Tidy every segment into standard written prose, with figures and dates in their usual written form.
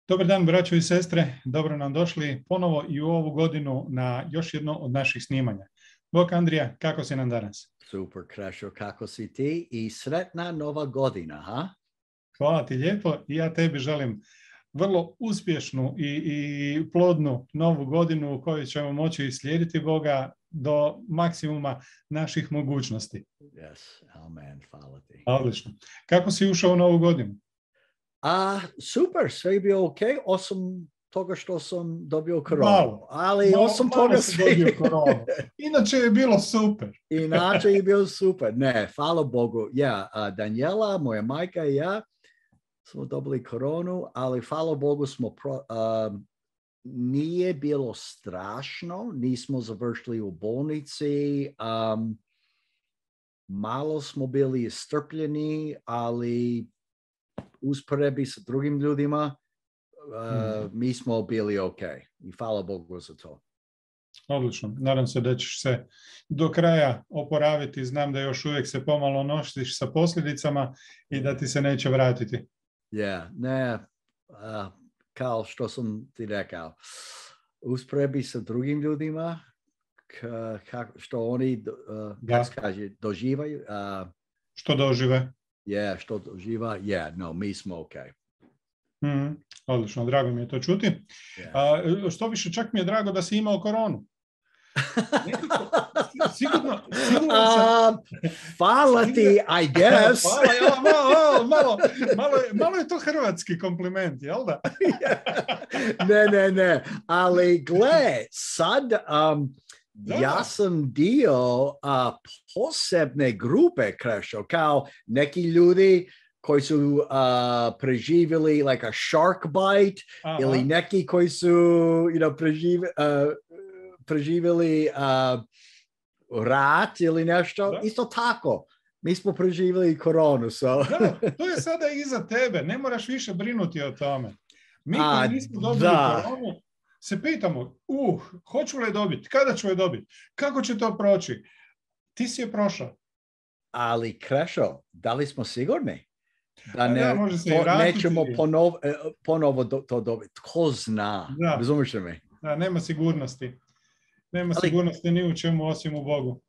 Dobar dan, braćo i sestre. Dobro nam došli ponovo i u ovu godinu na još jedno od naših snimanja. Bog Andrija, kako si nam danas? Super, Krešo, kako si ti? I sretna nova godina, ha? Hvala ti lijepo i ja tebi želim vrlo uspješnu i plodnu novu godinu u kojoj ćemo moći slijediti Boga do maksimuma naših mogućnosti. Yes, amen, hvala ti. Odlično. Kako si ušao u novu godinu? Super, sve je bio ok, osim toga što sam dobio koronu. Ali osim toga dobio koronu. Inače je bilo super. Inače je bilo super. Ne, hvala Bogu. Ja, Daniela, moja majka i ja smo dobili koronu, ali hvala Bogu smo nije bilo strašno, nismo završili u bolnici, malo smo bili istrpljeni, ali usporedbi sa drugim ljudima, mi smo bili ok. I hvala Bogu za to. Odlično. Nadam se da ćeš se do kraja oporaviti. Znam da još uvijek se pomalo nosiš sa posljedicama i da ti se neće vratiti. Ne, kao što sam ti rekao, usporedbi sa drugim ljudima, što oni, doživaju. Što dožive? Što doživa, mi smo ok. Odlično, drago mi je to čuti. Što više, čak mi je drago da si imao koronu. Sigurno sam... Hvala ti, I guess. Malo je to hrvatski kompliment, jel da? Ne, ali gle, sad... Ja sam dio posebne grupe, Krešo, kao neki ljudi koji su preživjeli like a shark bite, ili neki koji su preživjeli rat ili nešto. Da. Isto tako. Mi smo preživjeli koronu. So. Da, to je sada iza tebe. Ne moraš više brinuti o tome. Mi koji nismo dobili koronu, se pitamo, hoću li je dobiti, kada ću je dobiti, kako će to proći? Ti si je prošao. Ali Krešo, da li smo sigurni? Da nećemo ponovo to dobiti. Tko zna? Razumiješ mi? Da, nema sigurnosti. Nema sigurnosti ni u čemu osim u Bogu.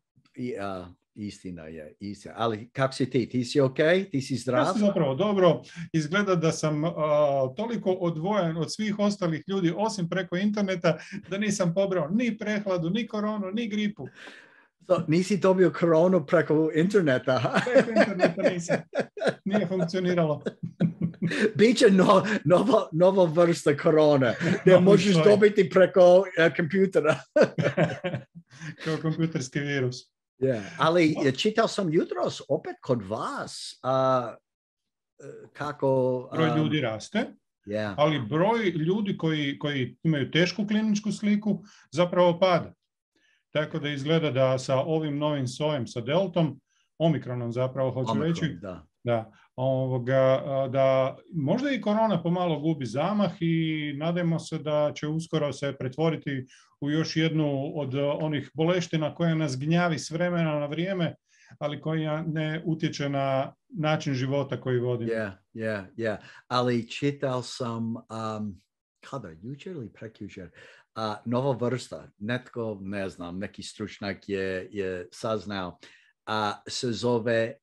Istina je. Ali kako si ti? Ti si ok? Ti si zdrav? Ja sam zapravo dobro. Izgleda da sam toliko odvojen od svih ostalih ljudi, osim preko interneta, da nisam pobrao ni prehladu, ni koronu, ni gripu. Nisi dobio koronu preko interneta? Preko interneta nisam. Nije funkcioniralo. Biće nova vrsta korone. Ne možeš dobiti preko kompjutera. Kao kompjuterski virus. Ali čitao sam jutros opet kod vas kako... Broj ljudi raste, ali broj ljudi koji imaju tešku kliničku sliku zapravo pada. Tako da izgleda da sa ovim novim sojem, sa deltom, omikronom zapravo hoću reći, da možda i korona pomalo gubi zamah i nadajmo se da će uskoro se pretvoriti u još jednu od onih boleština koja nas gnjavi s vremena na vrijeme, ali koja ne utječe na način života koji vodimo. Ali čitao sam, kada, jučer ili prekjučer, nova vrsta, netko, ne znam, neki stručnjak je saznao, se zove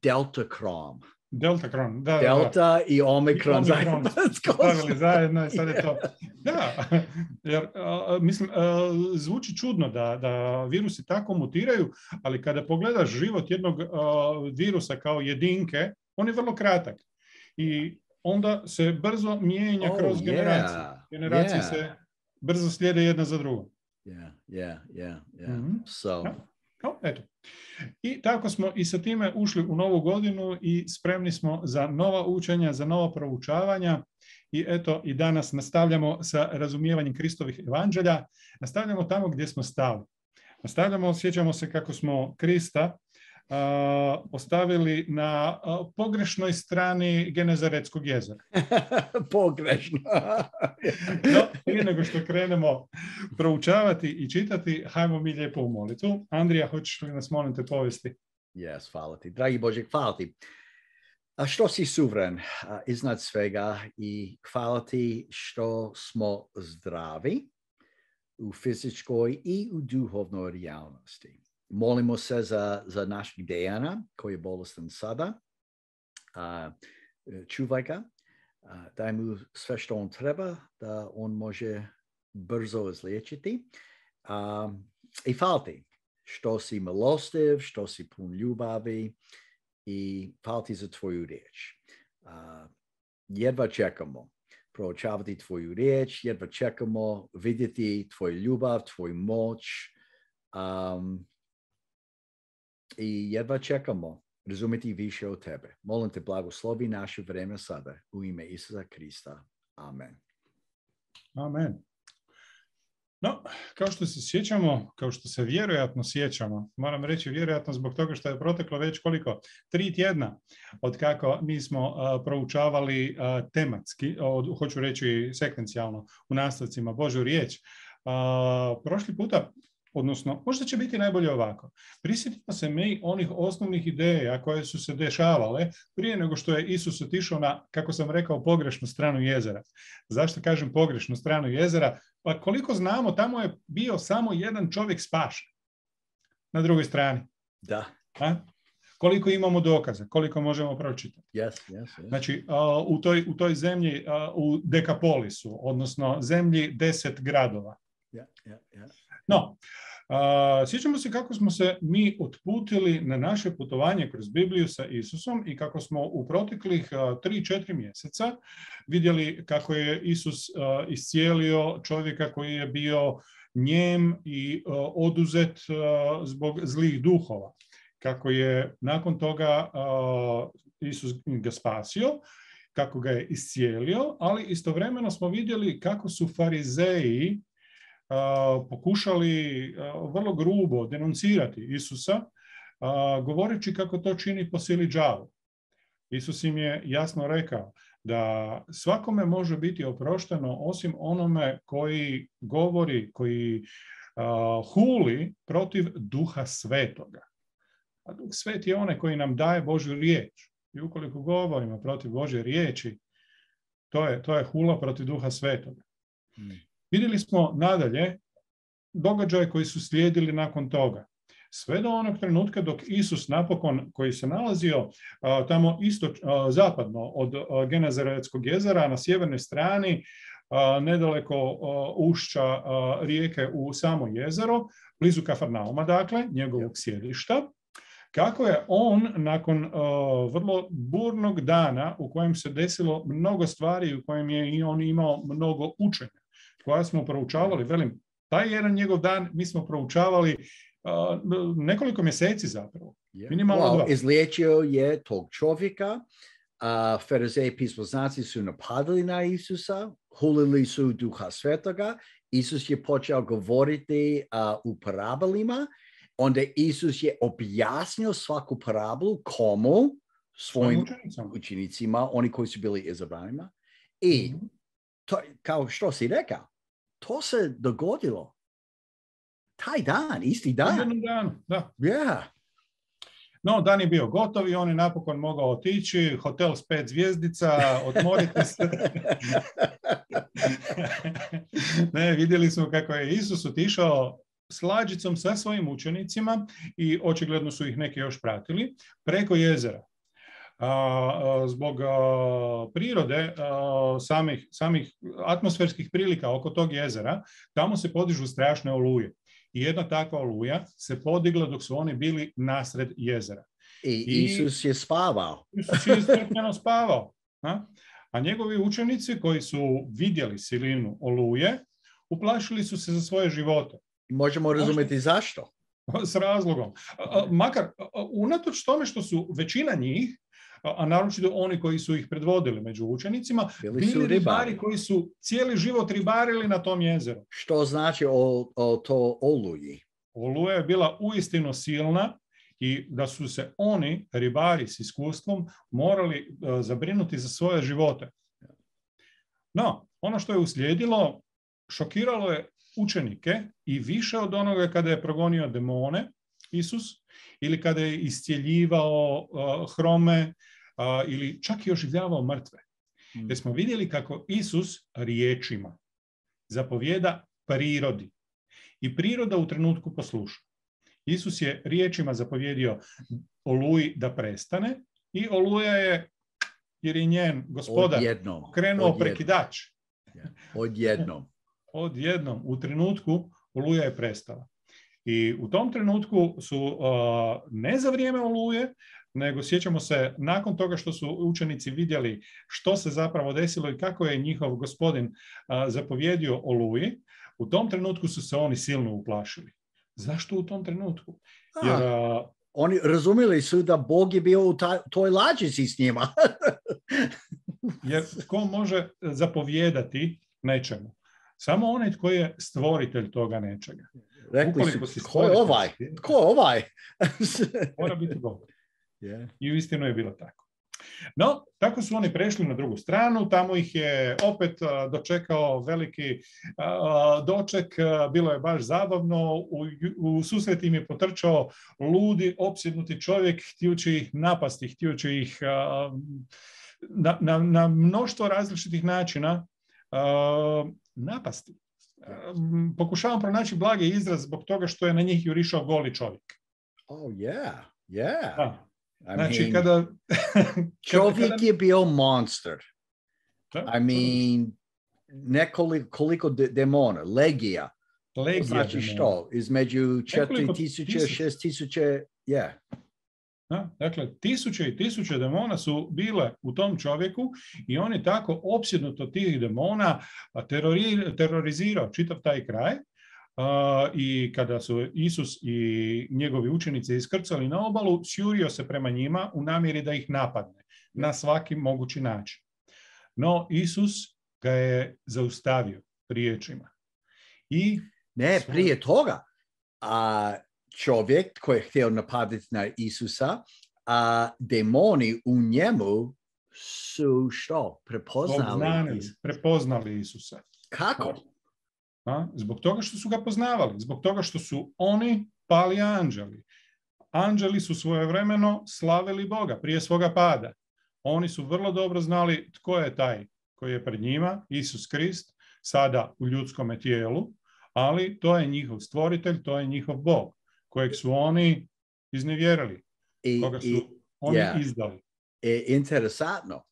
Deltacron. Deltacron, da. Delta i Omikron stavili zajedno i sad je to. Da, jer mislim, zvuči čudno da virusi tako mutiraju, ali kada pogledaš život jednog virusa kao jedinke, on je vrlo kratak. I onda se brzo mijenja kroz generacije. Generacije se brzo slijede jedna za drugom. Eto. I tako smo i sa time ušli u novu godinu i spremni smo za nova učenja, za nova proučavanja. I eto, i danas nastavljamo sa razumijevanjem Kristovih evanđelja. Nastavljamo tamo gdje smo stali. Sjećamo se kako smo Krista ostavili na pogrešnoj strani Genezaretskog jezera. Pogrešno. No, prije nego što krenemo proučavati i čitati, hajmo mi lijepo u molitvu. Andrija, hoćeš li nas, molim te, povesti? Yes, hvala ti. Dragi Bože, hvala ti. A što si suveren iznad svega i hvala ti što smo zdravi u fizičkoj i u duhovnoj realnosti. Molimo se za našeg Dejana koji je bolestan sada. Čuvaj ga, daj mu sve što on treba da on može brzo izliječiti. I hvala ti što si milostiv, što si pun ljubavi i hvala ti za tvoju riječ. Jedva čekamo proučavati tvoju riječ, jedva čekamo vidjeti tvoju ljubav, tvoju moć i jedva čekamo razumjeti više od tebe. Molim te, blagoslovi naše vrijeme sada u ime Isusa Krista. Amen. Amen. No, kao što se sjećamo, kao što se vjerojatno sjećamo, moram reći vjerojatno zbog toga što je proteklo već 3 tjedna od kako mi smo proučavali tematski, hoću reći sekvencijalno u nastavcima Božju riječ. Prošli puta, odnosno možda će biti najbolje ovako. Prisjetimo se mi onih osnovnih ideja koje su se dešavale prije nego što je Isus otišao na, kako sam rekao, pogrešnu stranu jezera. Zašto kažem pogrešnu stranu jezera? Pa koliko znamo, tamo je bio samo jedan čovjek spašen na drugoj strani. Da. Koliko imamo dokaza, koliko možemo pročitati. Yes. Znači, u toj zemlji, u Dekapolisu, odnosno zemlji 10 gradova. Yeah. No, sjećamo se kako smo se mi otputili na naše putovanje kroz Bibliju sa Isusom i kako smo u proteklih 3-4 mjeseca vidjeli kako je Isus iscijelio čovjeka koji je bio njem i oduzet zbog zlih duhova. Kako je nakon toga Isus ga spasio, kako ga je iscijelio, ali istovremeno smo vidjeli kako su farizeji pokušali vrlo grubo denuncirati Isusa, govoreći kako to čini po sili đavo. Isus im je jasno rekao da svakome može biti oprošteno osim onome koji govori, koji huli protiv Duha Svetoga. A Duh Sveti je onaj koji nam daje Božju riječ. I ukoliko govorimo protiv Božje riječi, to je hula protiv Duha Svetoga. Vidjeli smo nadalje događaje koji su slijedili nakon toga. Sve do onog trenutka dok Isus napokon, koji se nalazio tamo zapadno od Genezaretskog jezera na sjevernoj strani, nedaleko ušća rijeke u samo jezero, blizu Kafarnauma, dakle, njegovog sjedišta, kako je on nakon vrlo burnog dana u kojem se desilo mnogo stvari, u kojem je i on imao mnogo učenja, koja smo proučavali, velim, taj jedan njegov dan mi smo proučavali nekoliko mjeseci zapravo. Minimalno 2. Izliječio je tog čovjeka, farizeji pismoznanci su napadali na Isusa, hulili su Duha Svetoga, Isus je počeo govoriti u parabolima, onda Isus je objasnio svaku parabolu komu? Svojim učenicima, oni koji su bili izabranima. I to, kao što si rekao, to se dogodilo taj dan, isti dan. Jednom danu, da. Yeah. No, dan je bio gotov i on je napokon mogao otići, hotel s 5 zvjezdica, odmorite se. Ne, vidjeli smo kako je Isus otišao s lađicom sa svojim učenicima i očigledno su ih neki još pratili, preko jezera. Zbog prirode, samih atmosferskih prilika oko tog jezera, tamo se podižu strašne oluje. I jedna takva oluja se podigla dok su oni bili nasred jezera. I Isus je spavao. Isus je istrpljeno spavao. A njegovi učenici koji su vidjeli silinu oluje, uplašili su se za svoje živote. Možemo razumjeti zašto. S razlogom. Makar, unatoč tome što su većina njih, a naročito oni koji su ih predvodili među učenicima, bili ribari koji su cijeli život ribarili na tom jezeru. Što znači o to oluji? Oluja je bila uistinu silna i da su se oni, ribari s iskustvom, morali zabrinuti za svoje živote. No, ono što je uslijedilo, šokiralo je učenike i više od onoga kada je progonio demone, Isus, ili kada je iscjeljivao hrome, ili čak i oživljavao mrtve. Jer smo vidjeli kako Isus riječima zapovijeda prirodi. I priroda u trenutku posluša. Isus je riječima zapovjedio oluji da prestane i oluja je, jer je njen gospodar krenuo prekidač. Odjednom. U trenutku oluja je prestala. I u tom trenutku su ne za vrijeme oluje, nego sjećamo se nakon toga što su učenici vidjeli što se zapravo desilo i kako je njihov gospodin zapovjedio oluji, u tom trenutku su se oni silno uplašili. Zašto u tom trenutku? Jer, oni razumjeli su da Bog je bio u toj lađici s njima. Jer tko može zapovijedati nečemu? Samo onaj tko je stvoritelj toga nečega. Rekli su, tko je ovaj? Tko je ovaj? Mora biti Bog. Yeah. I uistinu je bilo tako. No, tako su oni prešli na drugu stranu, tamo ih je opet dočekao veliki doček, bilo je baš zabavno, u susret im je potrčao ludi, opsjednuti čovjek, htijući ih napasti, htijući ih na mnoštvo različitih načina napasti. Pokušavam pronaći blagi izraz zbog toga što je na njih jurišao goli čovjek. Oh, yeah. Da. Znači, kada čovjek je bio monster. Nekoliko demona, legija. Znači što? Između 4,000, 6,000, yeah. Dakle, tisuće i tisuće demona su bile u tom čovjeku i on je tako opsjednut od tih demona terorizirao čitav taj kraj. I kada su Isus i njegovi učenici iskrcali na obalu, sjurio se prema njima u namjeri da ih napadne na svaki mogući način. No, Isus ga je zaustavio riječima. Prije toga, čovjek koji je htio napaditi na Isusa, demoni u njemu su što? Prepoznali Isusa. Kako? Zbog toga što su ga poznavali, zbog toga što su oni pali anđeli. Anđeli su svojevremeno slavili Boga prije svoga pada. Oni su vrlo dobro znali tko je taj koji je pred njima, Isus Krist, sada u ljudskome tijelu, ali to je njihov stvoritelj, to je njihov Bog, kojeg su oni iznevjerili, koga su oni izdali. Interesantno,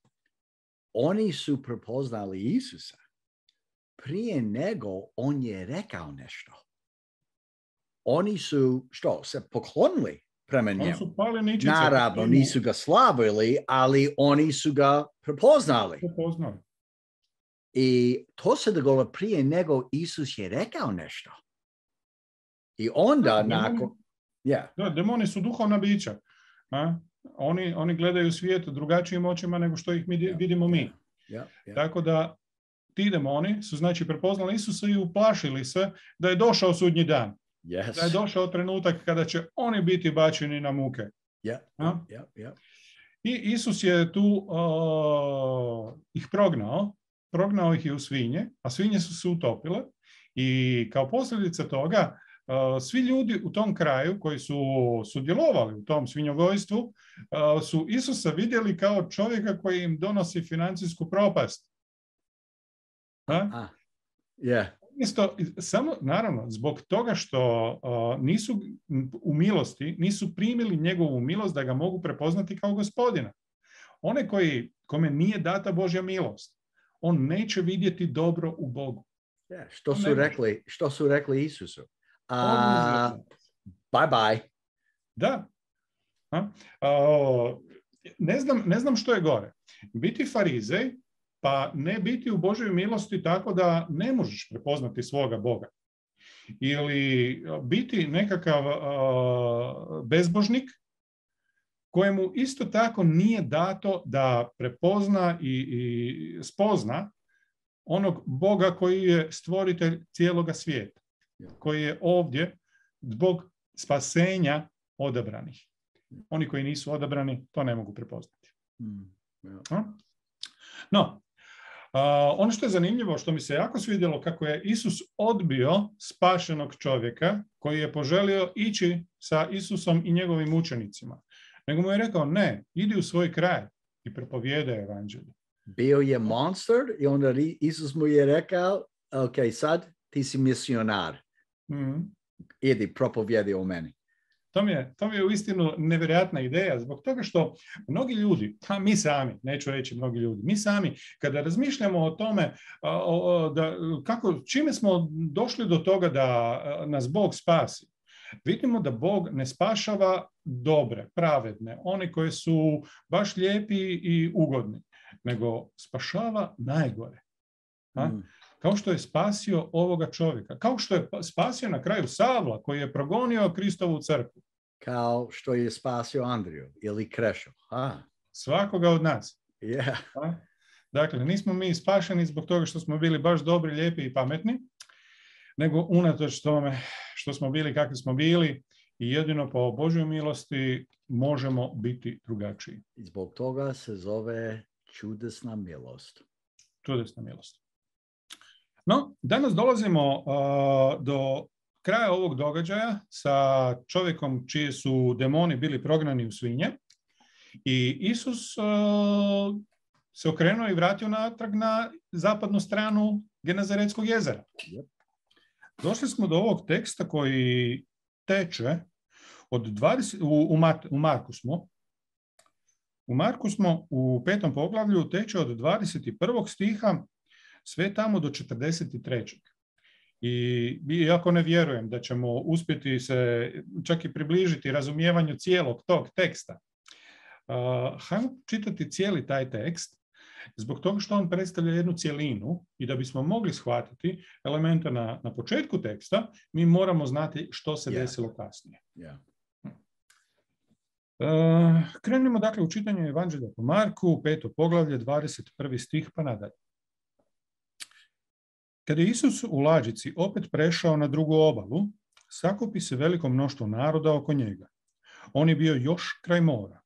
oni su prepoznali Isusa prije nego on je rekao nešto. Oni su, se poklonili prema njemu. Naravno, nisu ga slavili, ali oni su ga prepoznali. I to se dogodilo prije nego Isus je rekao nešto. I onda nakon... Da, demoni su duhovna bića. Oni gledaju svijet drugačijim očima nego što ih vidimo mi. Tako da ti demoni su znači prepoznali Isusa i uplašili se da je došao sudnji dan. Da je došao trenutak kada će oni biti bačeni na muke. I Isus je tu ih prognao ih je u svinje, a svinje su se utopile i kao posljedica toga svi ljudi u tom kraju koji su sudjelovali u tom svinjogojstvu su Isusa vidjeli kao čovjeka koji im donosi financijsku propast. Isto, samo, naravno, zbog toga što nisu u milosti, nisu primili njegovu milost da ga mogu prepoznati kao gospodina. One kome nije data Božja milost, on neće vidjeti dobro u Bogu. Što su rekli Isusu? Bye bye. Da. Ne znam što je gore. Biti farizej, pa ne biti u Božjoj milosti tako da ne možeš prepoznati svoga Boga. Ili biti nekakav bezbožnik kojemu isto tako nije dato da prepozna i spozna onog Boga koji je stvoritelj cijeloga svijeta, koji je ovdje zbog spasenja odabranih. Oni koji nisu odabrani to ne mogu prepoznati. No, ono što je zanimljivo, što mi se jako svidjelo, kako je Isus odbio spašenog čovjeka koji je poželio ići sa Isusom i njegovim učenicima. Nego mu je rekao, ne, idi u svoj kraj, i propovijedao evanđelje. Bio je monster i onda Isus mu je rekao, ok, sad ti si misionar. Idi, propovijedi o meni. To mi je uistinu nevjerojatna ideja, zbog toga što mnogi ljudi, a mi sami, neću reći mnogi ljudi, mi sami, kada razmišljamo o tome čime smo došli do toga da nas Bog spasi, vidimo da Bog ne spašava dobre, pravedne, one koje su baš lijepi i ugodni, nego spašava najgore. Kao što je spasio ovoga čovjeka, kao što je spasio na kraju Savla koji je progonio Kristovu crkvu. Kao što je spasio Andriju ili Krešu. Svakoga od nas. Yeah. Dakle, nismo mi spašeni zbog toga što smo bili baš dobri, lijepi i pametni, nego unatoč tome što smo bili kakvi smo bili i jedino po Božjoj milosti možemo biti drugačiji. I zbog toga se zove čudesna milost. Čudesna milost. No, danas dolazimo do kraja ovog događaja sa čovjekom čiji su demoni bili prognani u svinje i Isus se okrenuo i vratio natrag na zapadnu stranu Genezaretskog jezera. Došli smo do ovog teksta koji teče od 20, u Marku smo. U Marku smo u 5. poglavlju teče od 21. stiha sve tamo do 43. I iako ne vjerujem da ćemo uspjeti se čak i približiti razumijevanju cijelog tog teksta, hajmo čitati cijeli taj tekst zbog toga što on predstavlja jednu cjelinu i da bismo mogli shvatiti elemente na početku teksta, mi moramo znati što se desilo kasnije. Krenimo dakle u čitanju Evanđelja po Marku, 5. poglavlje, 21. stih pa nadalje. Kada je Isus u lađici opet prešao na drugu obalu, sakupi se veliko mnoštvo naroda oko njega. On je bio još kraj mora.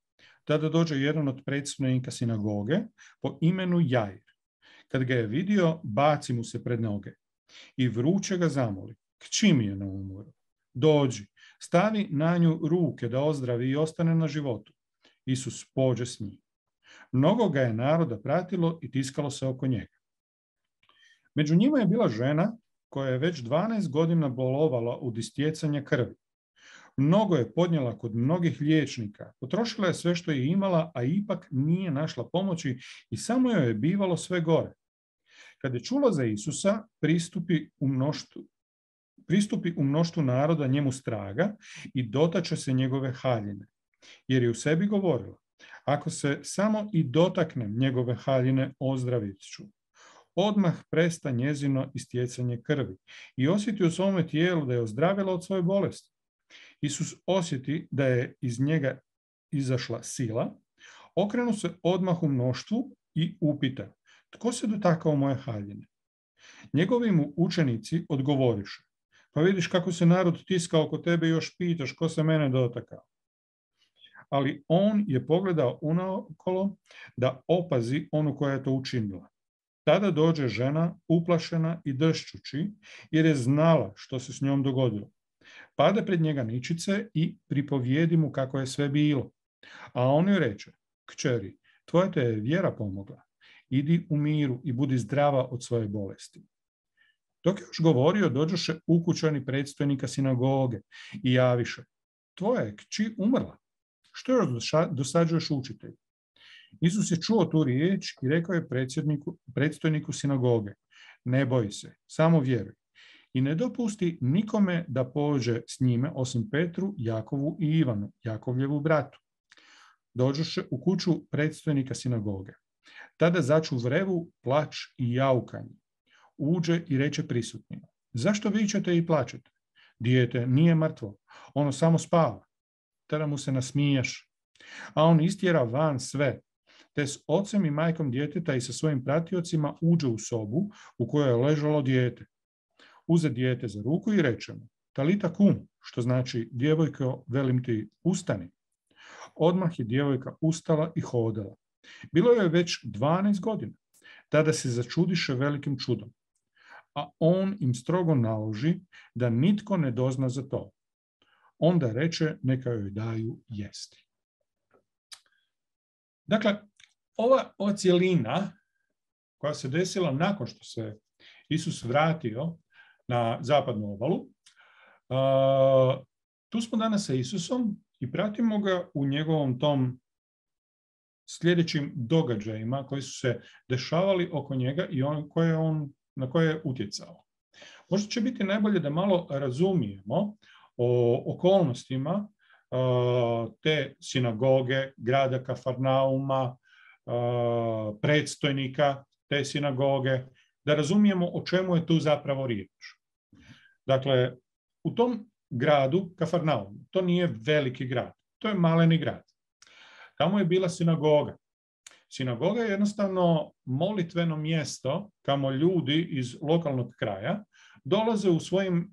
Tada dođe jedan od predsjednika sinagoge po imenu Jair. Kad ga je vidio, baci mu se pred noge i vruće ga zamoli. Kći mi je na umoru? Dođi, stavi na nju ruke da ozdravi i ostane na životu. Isus pođe s njim. Mnogo ga je naroda pratilo i tiskalo se oko njega. Među njima je bila žena koja je već 12 godina bolovala od istjecanja krvi. Mnogo je podnijela kod mnogih liječnika, potrošila je sve što je imala, a ipak nije našla pomoći i samo joj je bivalo sve gore. Kad je čula za Isusa, pristupi u mnoštvu naroda njemu straga i dotače se njegove haljine, jer je u sebi govorila, ako se samo i dotaknem njegove haljine, ozdravit ću. Odmah presta njezino istjecanje krvi i osjeti u svome tijelu da je ozdravila od svoje bolesti. Isus osjeti da je iz njega izašla sila, okrenu se odmah u mnoštvu i upita, tko se dotakao moje haljine? Njegovi mu učenici odgovoriše, pa vidiš kako se narod tiska oko tebe i još pitaš ko se mene dotakao. Ali on je pogledao unaokolo da opazi onu koja je to učinila. Tada dođe žena uplašena i dršćući, jer je znala što se s njom dogodilo. Pada pred njega ničice i pripovijedi mu kako je sve bilo. A on joj reče, kćeri, tvoja te je vjera pomogla. Idi u miru i budi zdrava od svoje bolesti. Dok je još govorio, dođoše ukućani predstojnika sinagoge i javiše, tvoja je kći umrla. Što još dosađuješ učitelju? Isus je čuo tu riječ i rekao je predstojniku sinagoge, ne boji se, samo vjeruj. I ne dopusti nikome da pođe s njime, osim Petru, Jakovu i Ivanu, Jakovljevu bratu. Dođoše u kuću predstojnika sinagoge. Tada začu vrevu, plač i jaukanje. Uđe i reče prisutnima, zašto vičete i plačete? Dijete nije mrtvo, ono samo spava. Tada mu se nasmijaš. A on istjera van sve, te s ocem i majkom djeteta i sa svojim pratiocima uđe u sobu u kojoj je ležalo dijete. Uze dijete za ruku i reče mu, talita kum, što znači, djevojko, velim ti, ustani. Odmah je djevojka ustala i hodala. Bilo joj već 12 godina. Tada se začudiše velikim čudom. A on im strogo naloži da nitko ne dozna za to. Onda reče, neka joj daju jesti. Dakle, ova cjelina koja se desila nakon što se Isus vratio na zapadnu obalu, tu smo danas sa Isusom i pratimo ga u njegovom tom sljedećim događajima koji su se dešavali oko njega i na koje je utjecao. Možda će biti najbolje da malo razumijemo o okolnostima te sinagoge, grada Kafarnauma, predstojnika te sinagoge, da razumijemo o čemu je tu zapravo riječ. Dakle, u tom gradu Kafarnaum, to nije veliki grad, to je maleni grad. Tamo je bila sinagoga. Sinagoga je jednostavno molitveno mjesto kamo ljudi iz lokalnog kraja dolaze u svojim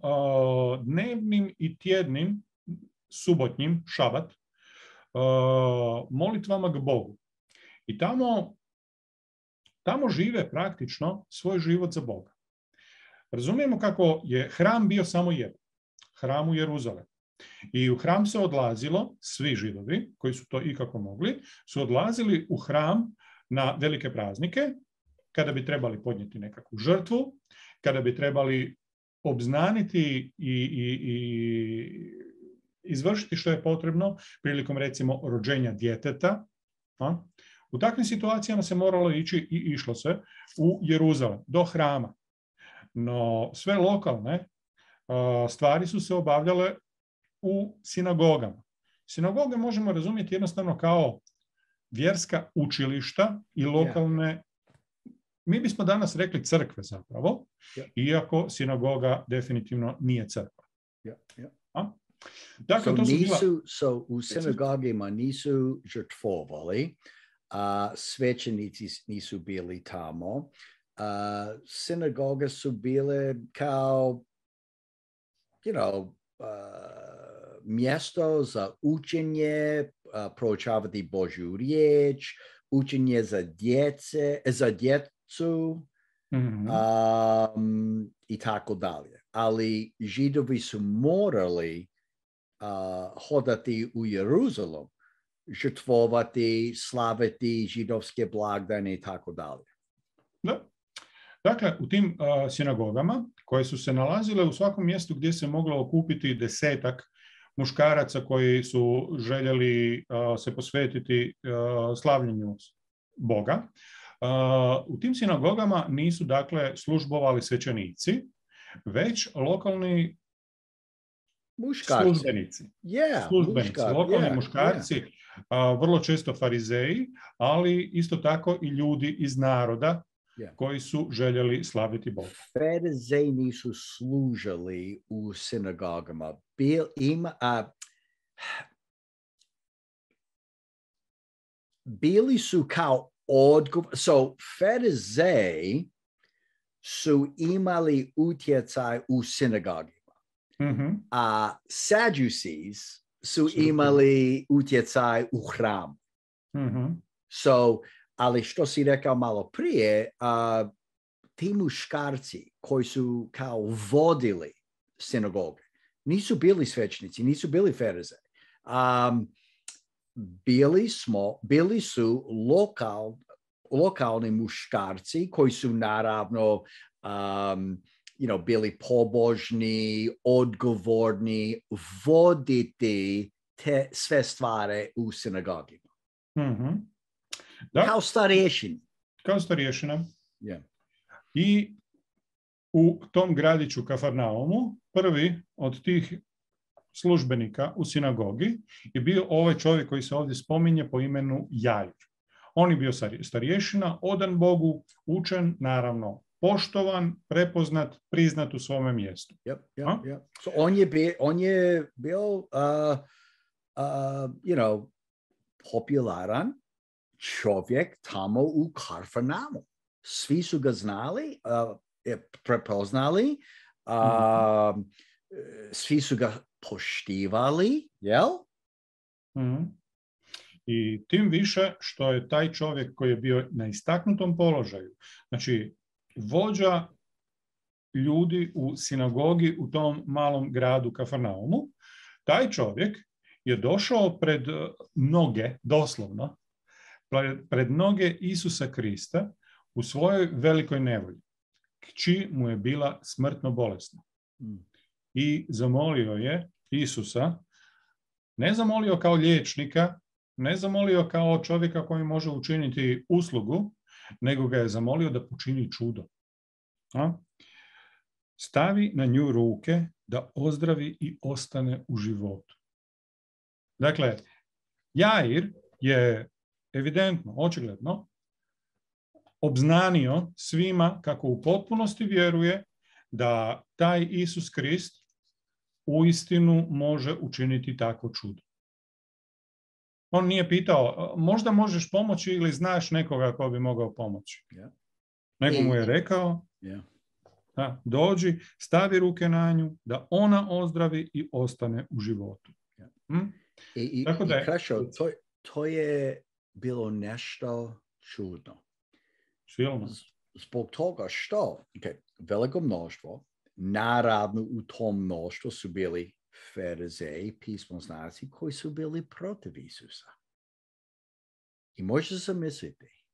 dnevnim i tjednim, subotnjim, šabat, molitvama k Bogu. I tamo žive praktično svoj život za Boga. Razumijemo kako je hram bio samo jedan. Hram u Jeruzalemu. I u hram se odlazilo, svi Židovi koji su to ikako mogli, su odlazili u hram na velike praznike, kada bi trebali podnijeti nekakvu žrtvu, kada bi trebali obznaniti i izvršiti što je potrebno prilikom, recimo, rođenja djeteta. U takvim situacijama se moralo ići i išlo se u Jeruzalem, do hrama. No sve lokalne stvari su se obavljale u sinagogama. Sinagoge možemo razumjeti jednostavno kao vjerska učilišta i lokalne, mi bismo danas rekli crkve zapravo, iako sinagoga definitivno nije crkva. Dakle, u sinagogima nisu žrtvovali, svećenici nisu bili tamo. Sinagoge su bile kao, mjesto za učenje, proučavati Božju riječ, učenje za djecu i tako dalje. Ali Židovi su morali hodati u Jeruzalem, žrtvovati, slaviti židovske blagdane i tako dalje. Da. Dakle, u tim sinagogama, koje su se nalazile u svakom mjestu gdje se moglo okupiti 10 muškaraca koji su željeli se posvetiti slavljenju Boga, u tim sinagogama nisu, dakle, službovali svećenici, već lokalni službenici. Lokalni muškarci, vrlo često farizeji, ali isto tako i ljudi iz naroda koji su željeli slaviti Boga. Farizeji nisu služili u sinagogama. Bili su kao farizeji su imali utjecaj u sinagogima. A Sadducees su imali utjecaj u hramu. Ali što si rekao malo prije, ti muškarci koji su kao vodili sinagoge, nisu bili svećnici, nisu bili farizeji. Bili su lokalni muškarci koji su naravno bili pobožni, odgovorni, voditi te sve stvari u sinagogima. Kao starješina. Kao starješina. I u tom gradiću Kafarnaumu prvi od tih službenika u sinagogi je bio ovaj čovjek koji se ovdje spominje po imenu Jair. On je bio starješina, odan Bogu, učen, naravno poštovan, prepoznat, priznat u svome mjestu. So on je bio popularan čovjek tamo u Kafarnaumu. Svi su ga znali, prepoznali, svi su ga poštivali, jel? I tim više što je taj čovjek koji je bio na istaknutom položaju, znači vođa ljudi u sinagogi u tom malom gradu Kafarnaumu, taj čovjek je došao pred mnoge, doslovno, pred noge Isusa Krista u svojoj velikoj nevolji, kći mu je bila smrtno bolesna. I zamolio je Isusa, ne zamolio kao liječnika, ne zamolio kao čovjeka koji može učiniti uslugu, nego ga je zamolio da počini čudo. Stavi na nju ruke da ozdravi i ostane u životu. Dakle, Jair je evidentno, očigledno, obznanio svima kako u potpunosti vjeruje da taj Isus Krist uistinu može učiniti takvo čudo. On nije pitao, možda možeš pomoći ili znaš nekoga ko bi mogao pomoći. Nego mu je rekao, dođi, stavi ruke na nju, da ona ozdravi i ostane u životu. Tako da to je bilo nešto čudno. Silno. Zbog toga što veliko mnoštvo, naravno u tom mnoštvu su bili farizeji, pismoznanci koji su bili protiv Isusa. I možete zamisliti,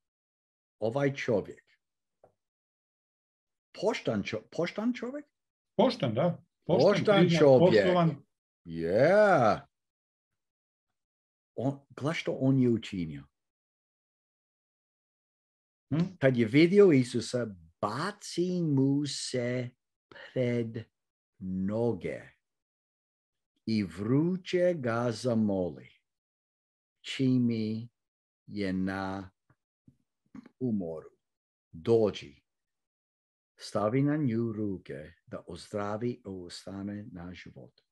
ovaj čovjek, poštan čovjek? Poštan, da. Poštan čovjek. Gledaj što on je učinio. Kad je vidio Isusa, baci mu se pred noge i vruće ga zamoli, čimi je na umoru. Dođi, stavi na nju ruke da ozdravi i ostane na životu.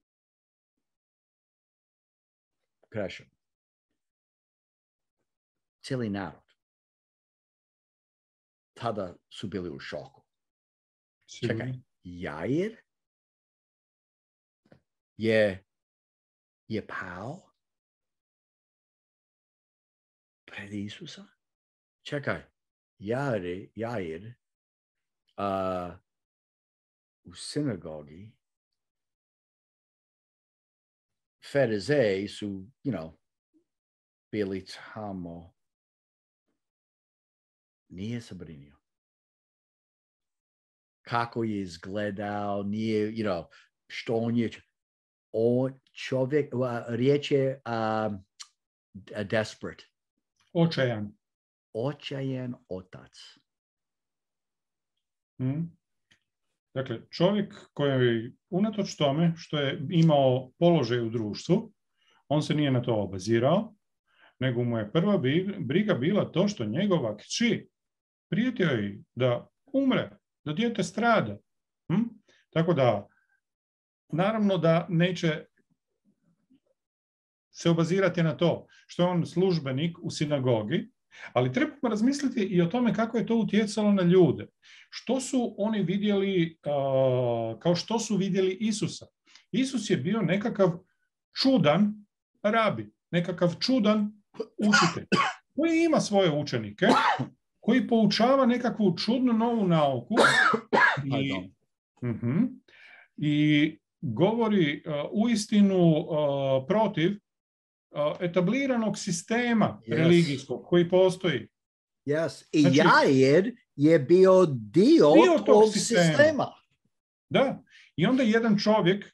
Krešo. Cijeli narod tada su bili u šoku. Čekaj, Jair je pao pred Isusa? Čekaj, Jair u sinagogi farizeji su, bili tamo. Nije se brinio. Kako je izgledao, nije, što on je. On čovjek, riječ je desperate. Očajan. Očajan otac. Dakle, čovjek koji unatoč tome što je imao položaj u društvu, on se nije na to obazirao, nego mu je prva briga bila to što njegova kći prijetio je da umre, da dijete strada. Tako da, naravno da neće se obazirati na to što je on službenik u sinagogi, ali trebamo razmisliti i o tome kako je to utjecalo na ljude. Što su oni vidjeli, kao što su vidjeli Isusa. Isus je bio nekakav čudan rabi, nekakav čudan učitelj, koji ima svoje učenike, koji poučava nekakvu čudnu novu nauku i govori uistinu protiv etabliranog sistema religijskog koji postoji. I Jair je bio dio tog sistema. Da. I onda jedan čovjek,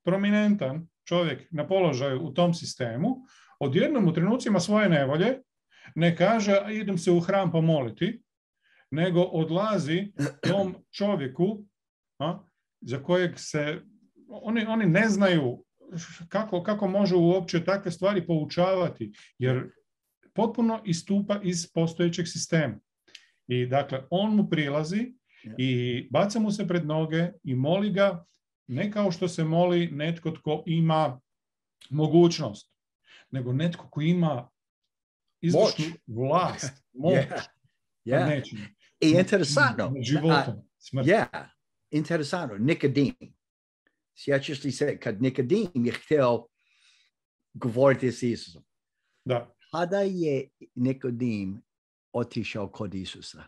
prominentan čovjek na položaju u tom sistemu, odjednom u trenucima svoje nevolje ne kaže idem se u hram pomoliti, nego odlazi tom čovjeku za kojeg se oni ne znaju kako može uopće takve stvari poučavati, jer potpuno istupa iz postojećeg sistema. I dakle, on mu prilazi i baca mu se pred noge i moli ga, ne kao što se moli netko tko ima mogućnost, nego netko ko ima izvršnu vlast, moć. I interesantno. Životom, interesantno. Nikodim. Sjećaš li se kad Nikodim je htio govoriti s Isusom? Da. Kada je Nikodim otišao kod Isusa?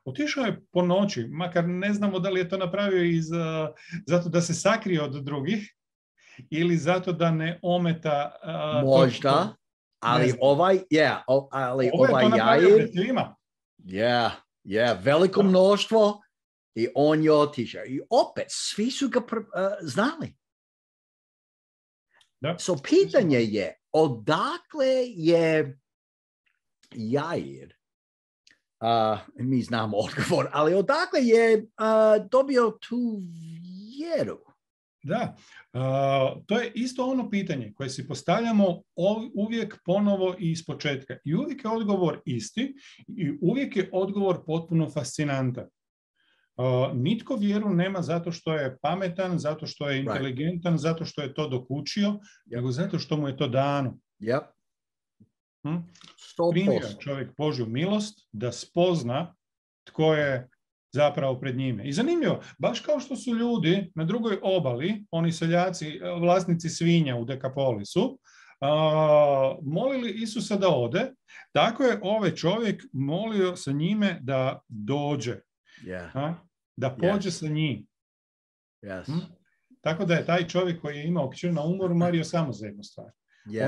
Otišao je po noći, makar ne znamo da li je to napravio zato da se sakrije od drugih ili zato da ne ometa... Možda. Ali ali Ovo je to napravio Jair, pred svima. veliko mnoštvo i on je otišao. I opet, svi su ga znali. Da. So pitanje je, odakle je Jair, mi znamo odgovor, ali odakle je dobio tu vjeru? Da, to je isto ono pitanje koje si postavljamo uvijek ponovo i iz početka. I uvijek je odgovor isti i uvijek je odgovor potpuno fascinantan. Nitko vjeru nema zato što je pametan, zato što je inteligentan, zato što je to dokučio, nego zato što mu je to dano. Primio čovjek Božju milost da spozna tko je zapravo pred njime. I zanimljivo, baš kao što su ljudi na drugoj obali, oni seljaci, vlasnici svinja u Dekapolisu, molili Isusa da ode, tako je ovaj čovjek molio sa njime da dođe. Da pođe sa njim. Tako da je taj čovjek koji je imao kćer na umoru mario samo za jednu stvar.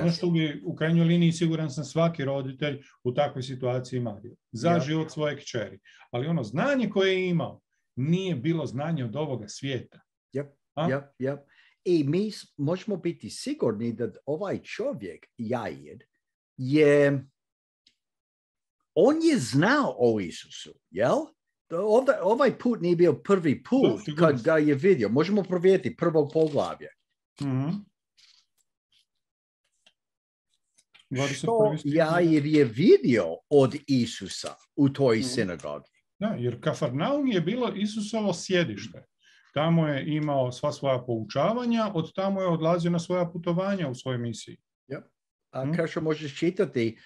Ono što bi u krajnjoj liniji, siguran sam, svaki roditelj u takvoj situaciji mario. Za život svoje kćeri. Ali ono znanje koje je imao nije bilo znanje od ovoga svijeta. I mi možemo biti sigurni da ovaj čovjek, Jair, on je znao o Isusu, jel? Ovaj put nije bio prvi put kad ga je vidio. Možemo provjeriti prvog poglavlje. Što Jair je vidio od Isusa u toj sinagogi? Da, jer Kafarnaum je bilo Isusovo sjedište. Tamo je imao sva svoja poučavanja, od tamo je odlazio na svoja putovanja u svojoj misiji. Kao što možeš čitati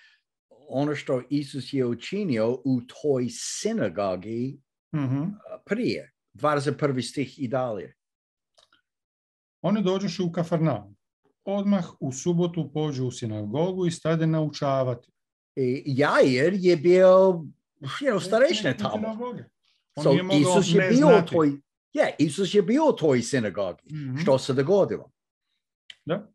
ono što Isus je učinio u toj sinagogi prije, 21. stih i dalje. Oni dođoše u Kafarnaum. Odmah u subotu pođu u sinagogu i stade naučavati. Jair je bio starešina tamo. Isus je bio u toj sinagogi. Što se dogodilo? Da.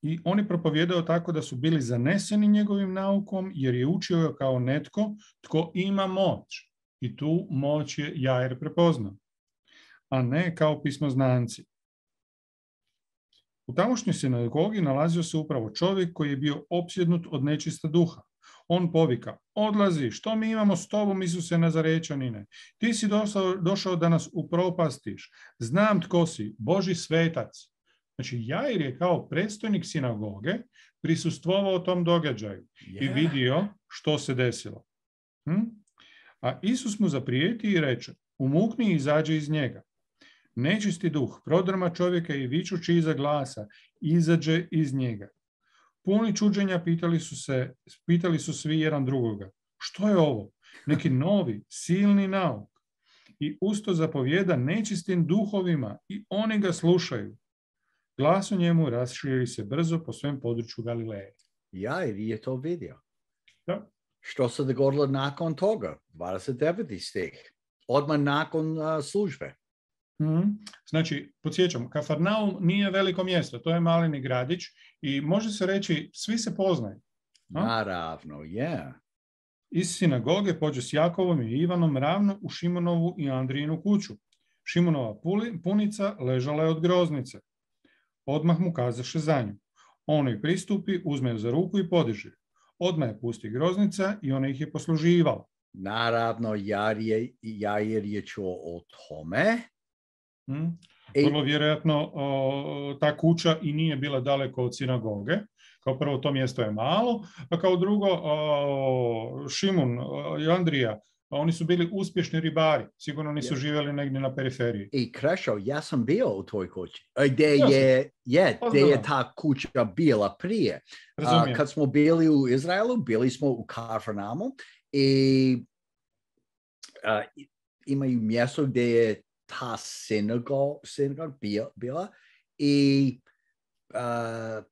I oni propovijedaju tako da su bili zaneseni njegovim naukom, jer je učio kao netko tko ima moć. I tu moć je Jair prepoznao, a ne kao pismoznanci. U tamošnjoj sinagogi nalazio se upravo čovjek koji je bio opsjednut od nečista duha. On povika: odlazi, što mi imamo s tobom, Isuse Nazarečanine? Ti si došao da nas upropastiš. Znam tko si, Božji svetac. Znači, Jair je kao predstojnik sinagoge prisustvovao tom događaju i vidio što se desilo. A Isus mu zaprijeti i reče: umukni i izađi iz njega. Nečisti duh prodrma čovjeka i vičući iza glasa izađe iz njega. Puni čuđenja pitali su svi jedan drugoga: što je ovo? Neki novi, silni nauk. I usto zapovjeda nečistim duhovima i oni ga slušaju. Glas o njemu raširi se brzo po svem području Galileje. Jair je to vidio. Da. Što se dogodilo nakon toga? 29. stih. Odmah nakon službe. Znači, podsjećam, Kafarnaum nije veliko mjesto, to je maleni gradić i može se reći svi se poznaju. Naravno, Iz sinagoge pođe s Jakovom i Ivanom ravno u Šimonovu i Andrijinu kuću. Šimonova punica ležala je od groznice. Odmah mu kazaše za nju. On joj pristupi, uzme ju za ruku i podiže. Odmah je pusti groznica i ona ih je posluživala. Naravno, Jair je čuo o tome. Vrlo vjerojatno ta kuća i nije bila daleko od sinagoge. Kao prvo, to mjesto je malo, a kao drugo, Šimun i Andrija, oni su bili uspješni ribari. Sigurno nisu živjeli negdje na periferiji. I Krešo, ja sam bio u toj kući. Gdje je ta kuća bila prije. Kad smo bili u Izraelu, bili smo u Kafarnaumu i imaju mjesto gdje je ta sinagoga bila i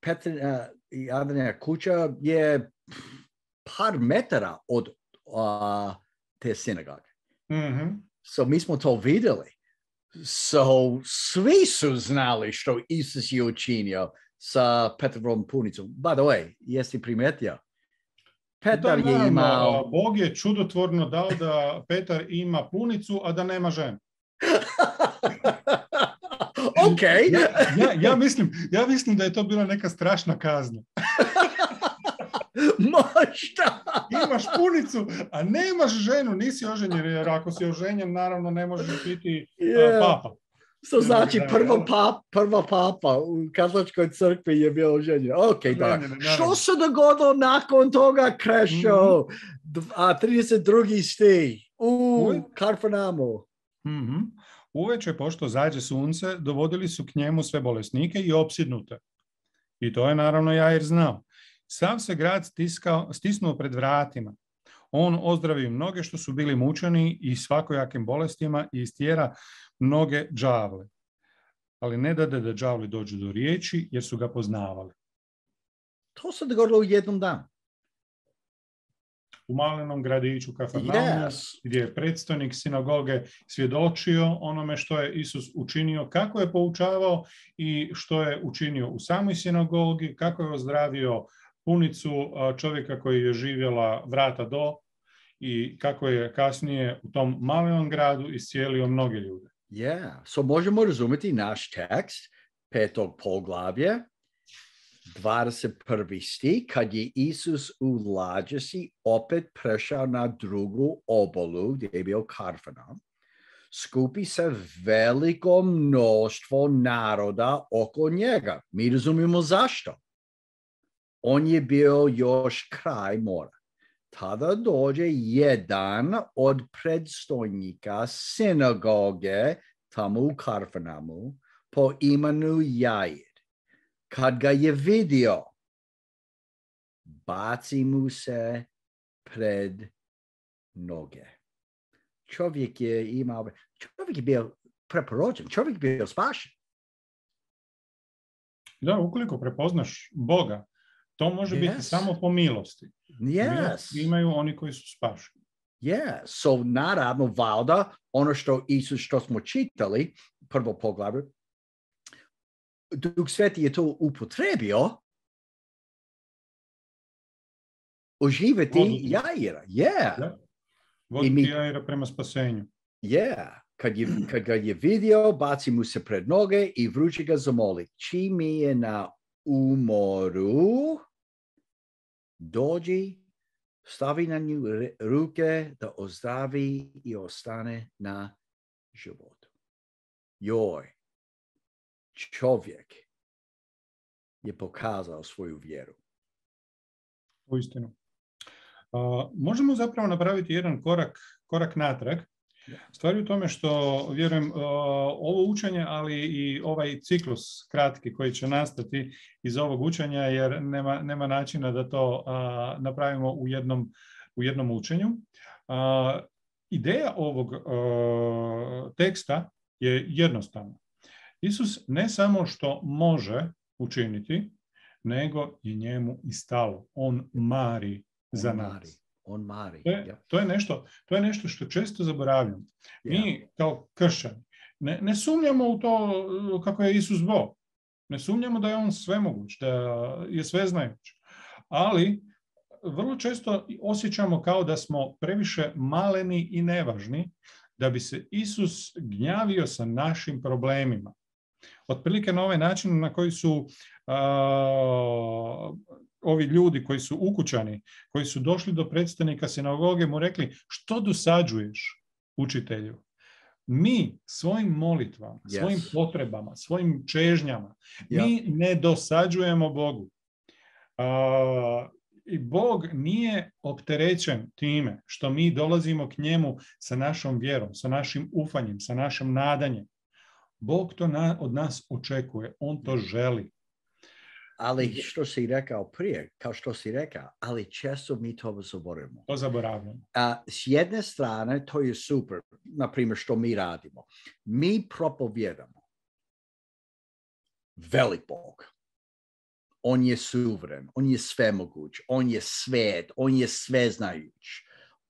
Petrina i Adrina kuća je par metara od te sinagoge. So mi smo to vidjeli. So svi su znali što Isus je učinio sa Petrovom punicom. By the way, jesi primetio? Petar je imao... Bog je čudotvorno dao da Petar ima punicu, a da nema ženu. Ok. Ja mislim da je to bila neka strašna kazna. Možda. Imaš punicu, a nemaš ženu, nisi oženjen, jer ako si oženjen, naravno ne možeš biti papa. To znači prva papa u katoličkoj crkvi je bio oženjen. Ok, da. Što se dogodilo nakon toga, Krešo? 32. stih u Karfanamu. Uveče, pošto zađe sunce, dovodili su k njemu sve bolesnike i opsjednute. I to je naravno Jair znao. Sav se grad stisnuo pred vratima. On ozdravi mnoge što su bili mučeni i svakojakim bolestima i istjera mnoge đavle. Ali ne dade da đavli dođu do riječi jer su ga poznavali. To se dogodilo u jednom danu. U malenom gradiću Kafarnaumu, gdje je predstojnik sinagoge svjedočio onome što je Isus učinio, kako je poučavao i što je učinio u samoj sinagogi, kako je ozdravio punicu čovjeka koji je živjela vrata do i kako je kasnije u tom malenom gradu iscijelio mnoge ljude. So možemo razumjeti naš tekst, 5. poglavlje, 21. stih, kad je Isus u lađesi opet prešao na drugu obalu, gdje je bio Karfanaum, skupi se veliko mnoštvo naroda oko njega. Mi razumijemo zašto. On je bio još kraj mora. Tada dođe jedan od predstojnika sinagoge tamo u Karfanamu po imenu Jair. Kad ga je vidio, baci mu se pred noge. Čovjek je bio preporođen, čovjek je bio spašen. Da, ukoliko prepoznaš Boga, to može biti samo po milosti. Milost imaju oni koji su spašeni. So naravno, valjda, ono što Isus, što smo čitali, prvo poglavlje, Duh Sveti je to upotrebio oživjeti Jaira. Voditi Jaira prema spasenju. Kad ga je vidio, baci mu se pred noge i vruće ga zamoli. Čim je na umoru, dođi, stavi na nju ruke da ozdravi i ostane na životu. Čovjek je pokazao svoju vjeru. Uistinu. Možemo zapravo napraviti jedan korak natrag. Stvar je u tome što, vjerujem, ovo učenje, ali i ovaj ciklus kratki koji će nastati iz ovog učenja, jer nema načina da to napravimo u jednom učenju. Ideja ovog teksta je jednostavna. Isus ne samo što može učiniti, nego je njemu i stalo. On mari za nas. On mari. To je nešto što često zaboravljamo. Mi kao kršćani ne sumnjamo u to kako je Isus Bog. Ne sumnjamo da je on svemoguć, da je sveznajuć. Ali vrlo često osjećamo kao da smo previše maleni i nevažni da bi se Isus gnjavio sa našim problemima. Otprilike na ovaj način na koji su ovi ljudi koji su ukućani, koji su došli do predstavnika sinagoge, mu rekli: što dosađuješ, učitelju? Mi svojim molitvama, svojim potrebama, svojim čežnjama, mi ne dosađujemo Bogu. I Bog nije opterećen time što mi dolazimo k njemu sa našom vjerom, sa našim ufanjem, sa našim nadanjem. Bog to od nas očekuje, on to želi. Ali što si rekao prije, kao što si rekao, ali često mi to zaboravimo. To zaboravljamo. S jedne strane, to je super, na primjer, što mi radimo. Mi propovjedamo velik Bog. On je suveren, on je svemoguć, on je svet, on je sveznajuć,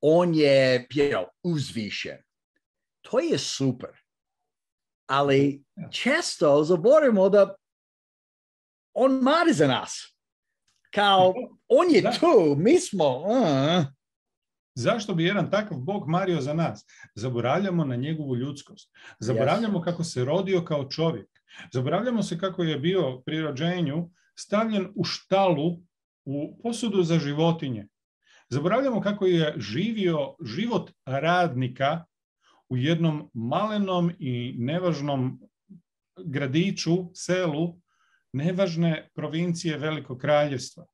on je uzvišen. To je super. Ali često zaboravimo da on mari za nas. Kao, on je tu, mi smo... Zašto bi jedan takav Bog mario za nas? Zaboravljamo na njegovu ljudskost. Zaboravljamo kako se rodio kao čovjek. Zaboravljamo se kako je bio pri rođenju stavljen u štalu, u posudu za životinje. Zaboravljamo kako je živio život radnika u jednom malenom i nevažnom gradiću, selu, nevažne provincije Velikog kraljevstva.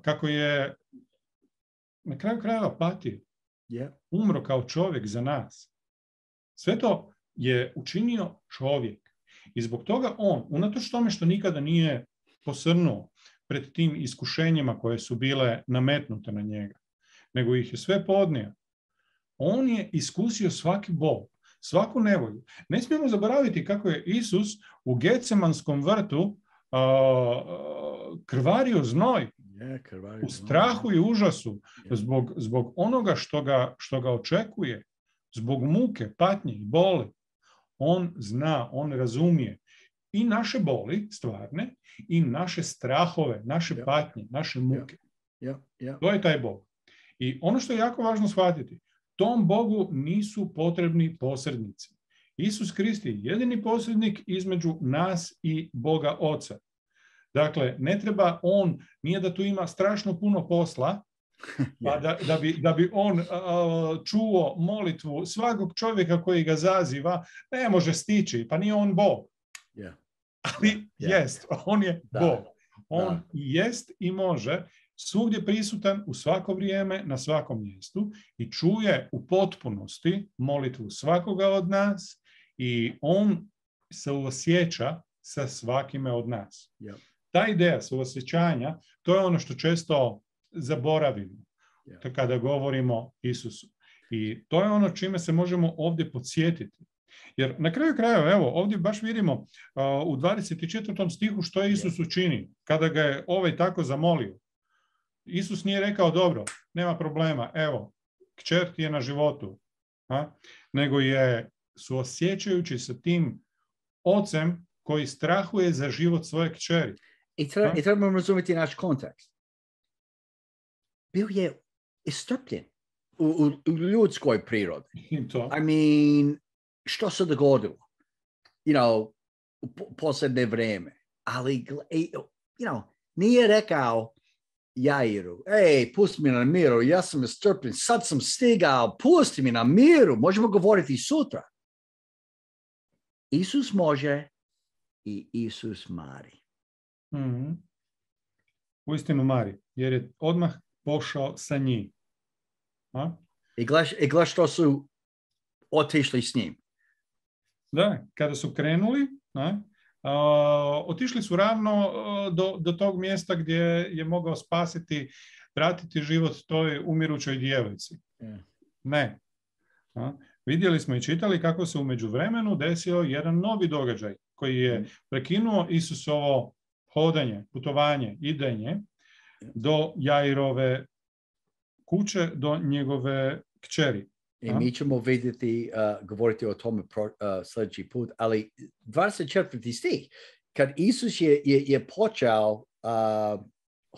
Kako je na kraju krajeva patio. Umro kao čovjek za nas. Sve to je učinio čovjek. I zbog toga on, unatoč tome što nikada nije posrnuo pred tim iskušenjima koje su bile nametnute na njega, nego ih je sve podnio, on je iskusio svaki bol, svaku nevolju. Ne smijemo zaboraviti kako je Isus u Getsemanskom vrtu krvario znoj, u strahu i užasu, zbog onoga što ga očekuje, zbog muke, patnje i boli. On zna, on razumije i naše boli stvarne i naše strahove, naše patnje, naše muke. To je taj Bog. I ono što je jako važno shvatiti, tom Bogu nisu potrebni posrednici. Isus Krist je jedini posrednik između nas i Boga Oca. Dakle, ne treba on, nije da tu ima strašno puno posla, pa da bi on čuo molitvu svakog čovjeka koji ga zaziva, ne može stići, pa nije on Bog. Ali jest, on je Bog. On jest i može svugdje prisutan u svako vrijeme, na svakom mjestu i čuje u potpunosti molitvu svakoga od nas i on se osjeća sa svakime od nas. Ta ideja suosjećanja, to je ono što često zaboravimo kada govorimo o Isusu. I to je ono čime se možemo ovdje podsjetiti. Jer na kraju krajeva, evo, ovdje baš vidimo u 24. stihu što je Isus učinio kada ga je ovaj tako zamolio. Isus nije rekao, dobro, nema problema, evo, kćer ti je na životu. Nego je suosjećajući sa tim ocem koji strahuje za život svoje kćeri. I trebamo razumjeti naš kontekst. Bio je istrpljen u ljudskoj prirodi. I mean, što se dogodilo? U posljednje vrijeme. Ali, nije rekao Jairu, pusti mi na miru, ja sam istrpljen, sad sam stigao, pusti mi na miru, možemo govoriti sutra. Isus može i Isus mari. Mm-hmm. Uistinu mari, jer je odmah pošao sa njim. I gledaš što su otišli s njim. Da, kada su krenuli, otišli su ravno do tog mjesta gdje je mogao spasiti, vratiti život toj umirućoj djevojci. Ne. Vidjeli smo i čitali kako se u međuvremenu desio jedan novi događaj koji je prekinuo Isusovo hodanje, putovanje, idenje do Jairove kuće, do njegove kćeri. I mi ćemo vidjeti, govoriti o tome sljedeći put, ali 24. stih, kad Isus je počeo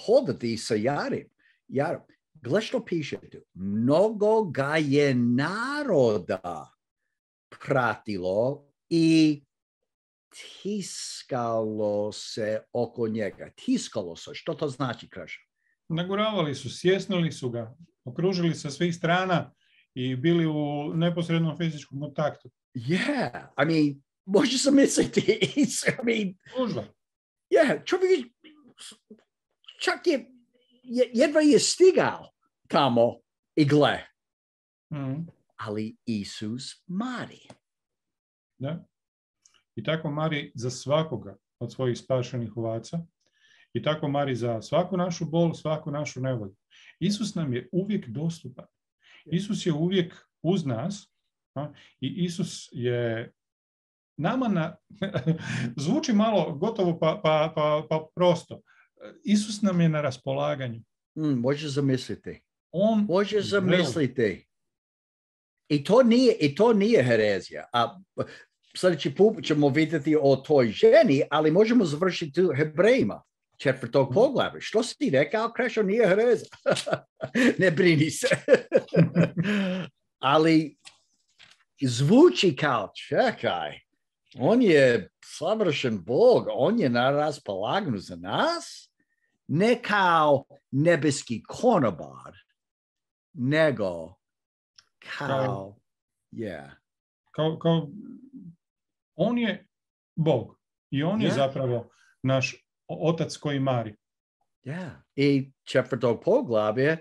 hodati sa Jairom, gle što piše tu, mnogo ga je naroda pratilo i tiskalo se oko njega. Tiskalo se, što to znači, Kraša? Naguravali su, sjesnili su ga, okružili sa svih strana i bili u neposrednom fizičkom kontaktu. Yeah, I mean, možeš se misliti. Čovjek čak jedva je stigao tamo i gle. Ali Isus mari. Da. I tako mari za svakoga od svojih spašenih ovaca. I tako mari za svaku našu bol, svaku našu nevolju. Isus nam je uvijek dostupan. Isus je uvijek uz nas i Isus je nama zvuči malo gotovo pa prosto. Isus nam je na raspolaganju. Možeš zamisliti. Možeš zamisliti. I to nije herezija. sljedeći put ćemo vidjeti o toj ženi, ali možemo završiti u Hebrejima, 4. poglavlje. Što si ti rekao, Krešo, nije hereza? Ne brini se. Ali zvuči kao, čekaj, on je savršen Bog, on je na raspolaganju za nas, ne kao nebeski konobar, nego kao on je Bog i on je zapravo naš otac koji mari. I 4. poglavlje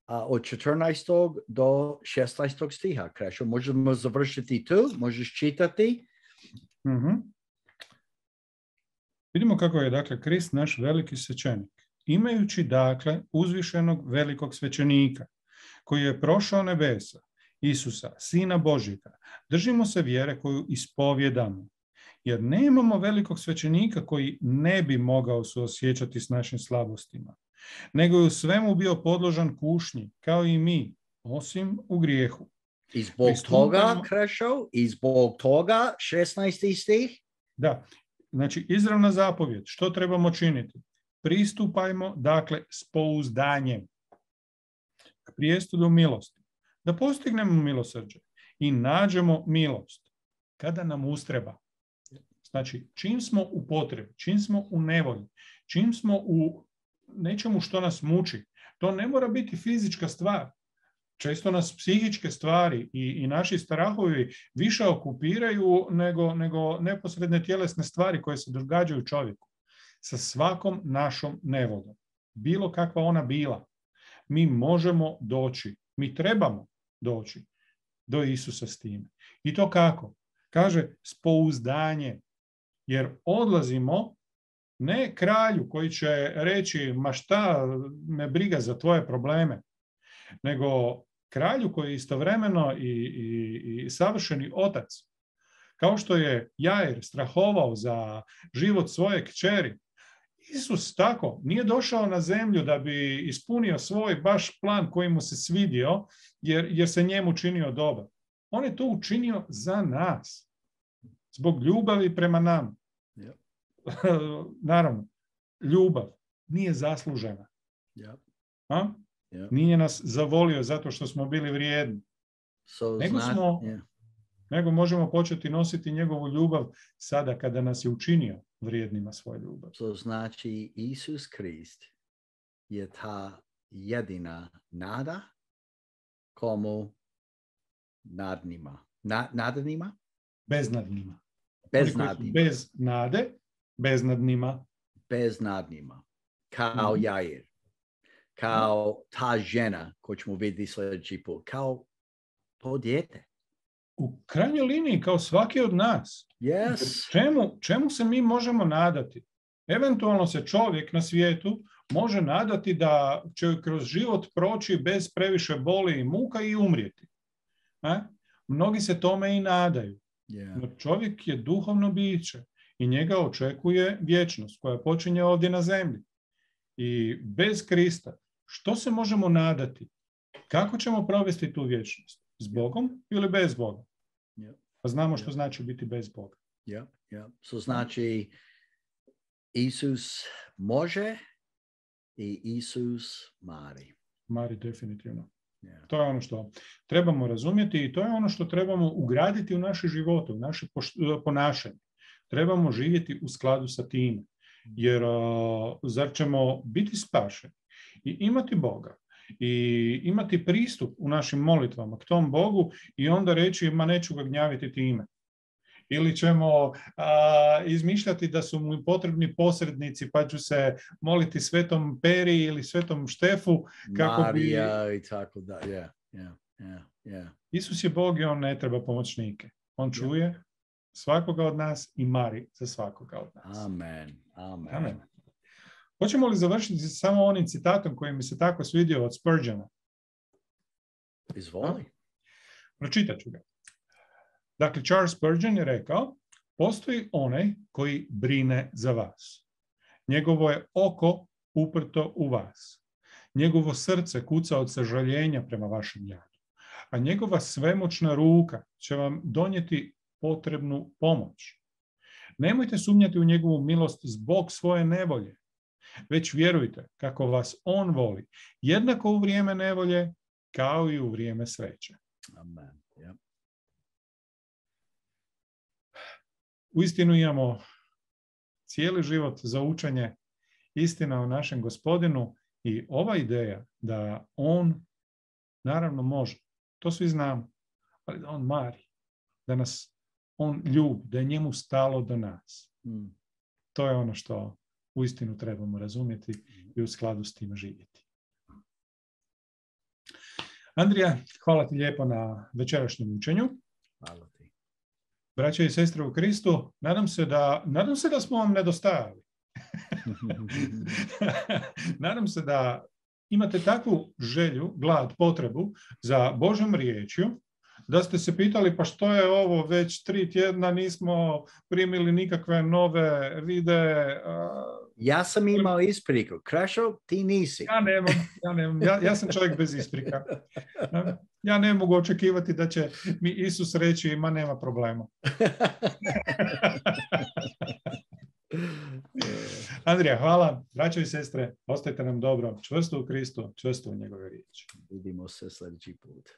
od 14. do 16. stiha. Krešo, možemo završiti tu? Možeš čitati? Vidimo kako je, dakle, Krist naš veliki svećenik. Imajući, dakle, uzvišenog velikog svećenika, koji je prošao nebesa, Isusa, Sina Božjega, držimo se vjere koju ispovjedamo. Jer nemamo velikog svećenika koji ne bi mogao suosjećati s našim slabostima, nego je u svemu bio podložan kušnji, kao i mi, osim u grijehu. I zbog toga, Krešo, i zbog toga 16. stih? Da, znači izravna zapovjed. Što trebamo činiti? Pristupajmo, dakle, s pouzdanjem k prijestudu milosti, da postignemo milosrđe i nađemo milost kada nam ustreba. Znači, čim smo u potrebi, čim smo u nevolji, čim smo u nečemu što nas muči, to ne mora biti fizička stvar. Često nas psihičke stvari i naši strahovi više okupiraju nego neposredne tjelesne stvari koje se događaju čovjeku. Sa svakom našom nevoljom, bilo kakva ona bila, mi možemo doći, mi trebamo doći do Isusa s time. I to kako? Kaže, s pouzdanjem. Jer odlazimo ne kralju koji će reći, ma šta me briga za tvoje probleme, nego kralju koji je istovremeno i savršeni otac. Kao što je Jair strahovao za život svoje kćeri, Isus tako nije došao na zemlju da bi ispunio svoj baš plan koji mu se svidio, jer se njemu činio dobar. On je to učinio za nas, zbog ljubavi prema nama. Naravno, ljubav nije zaslužena. Nije nas zavolio zato što smo bili vrijedni. Nego možemo početi nositi njegovu ljubav sada kada nas je učinio vrijednima svoje ljubav. To znači Isus Krist je ta jedina nada komu nadnima. Nadnima? Beznadnima. Beznadnima. Bez nade, beznadnima. Beznadnima. Kao Jair. Kao ta žena koju ćemo vidjeti sljedeći put. Kao to dijete. U krajnjoj liniji, kao svaki od nas. Yes. Čemu se mi možemo nadati? Eventualno se čovjek na svijetu može nadati da će kroz život proći bez previše boli i muka i umrijeti. Mnogi se tome i nadaju. No čovjek je duhovno biće i njega očekuje vječnost koja počinje ovdje na zemlji. I bez Krista, što se možemo nadati? Kako ćemo provesti tu vječnost? S Bogom ili bez Boga? Pa znamo što znači biti bez Boga. So znači Isus može i Isus mari. Mari definitivno. To je ono što trebamo razumjeti i to je ono što trebamo ugraditi u naše živote, u naše ponašanje. Trebamo živjeti u skladu sa time. Jer zar ćemo biti spašeni i imati Boga i imati pristup u našim molitvama k tom Bogu i onda reći, ma neću ga gnjaviti time. Ili ćemo izmišljati da su mu potrebni posrednici, pa ću se moliti Svetom Peri ili Svetom Štefu kako Marija i tako da. Isus je Bog i on ne treba pomoćnike. On čuje svakoga od nas i mari za svakoga od nas. Amen. Hoćemo li završiti samo onim citatom koji mi se tako svidio od Spurgeona? Izvoli. Pročitat ću ga. Dakle, Charles Spurgeon je rekao, postoji onaj koji brine za vas. Njegovo je oko uprto u vas. Njegovo srce kuca od sažaljenja prema vašem jadu. A njegova svemoćna ruka će vam donijeti potrebnu pomoć. Nemojte sumnjati u njegovu milost zbog svoje nevolje, već vjerujte kako vas on voli, jednako u vrijeme nevolje kao i u vrijeme sreće. Amen. Yeah. Uistinu imamo cijeli život za učenje istina o našem Gospodinu i ova ideja da on naravno može, to svi znamo, ali da on mari, da nas on ljubi, da je njemu stalo do nas. To je ono što uistinu trebamo razumjeti i u skladu s tim živjeti. Andrija, hvala ti lijepo na večerašnjem učenju. Hvala ti. Braće i sestre u Kristu, nadam se da smo vam nedostajali. Nadam se da imate takvu želju, glad, potrebu za Božjom riječju, da ste se pitali pa što je ovo, već 3 tjedna nismo primili nikakve nove videe. Ja sam imao ispriku. Krešo, ti nisi. Ja nemam. Ja sam čovjek bez isprika. Ja ne mogu očekivati da će mi Isus reći ma nema problema. Andrija, hvala. Braćo i sestre, ostajte nam dobro. Čvrsto u Kristu, čvrsto u njegove riječi. Vidimo se sljedeći put.